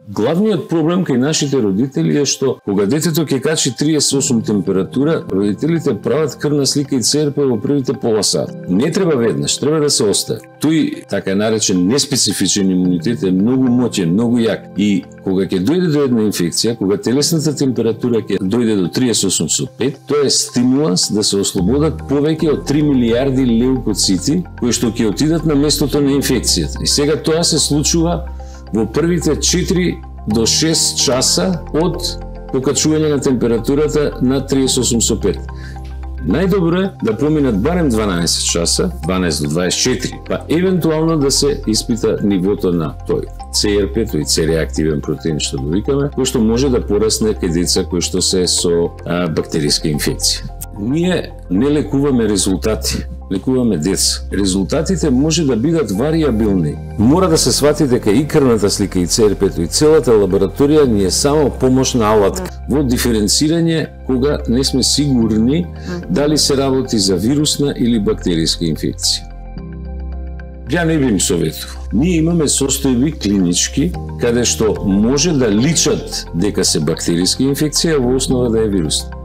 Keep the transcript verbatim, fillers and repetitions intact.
Главниот проблем кај нашите родители е што кога детето ќе качи триесет и осум температура, родителите прават крвна слика и ЦРП во првите пола сат. Не треба веднаш, треба да се остави. Тој така наречен неспецифичен имунитет е многу моќен, многу јак и кога ќе дојде до една инфекција, кога телесната температура ќе дојде до триесет и осум со пет, тоа е стимуланс да се ослободат повеќе од три милијарди леукоцити кои што ќе отидат на местото на инфекцијата. И сега тоа се случува во првите четири до шест часа од покачување на температурата на триесет и осум со пет. Најдобро е да поминат барем дванаесет часа, дванаесет до дваесет и четири, па евентуално да се испита нивото на тој ЦРП, тој Ц-реактивен протеин што го викаме, кој што може да порасне кај деца кои што се со а, бактериска инфекција. Ние не лекуваме резултати, лекуваме деца. Резултатите може да бидат вариабилни. Мора да се свати дека и крвната слика, и ЦРП-то, и целата лабораторија ни е само помошна алатка во диференцирање кога не сме сигурни дали се работи за вирусна или бактериска инфекција. Ја не би им советувал. Ние имаме состојби клинички каде што може да личат дека се бактериска инфекција, во основа да е вирусна.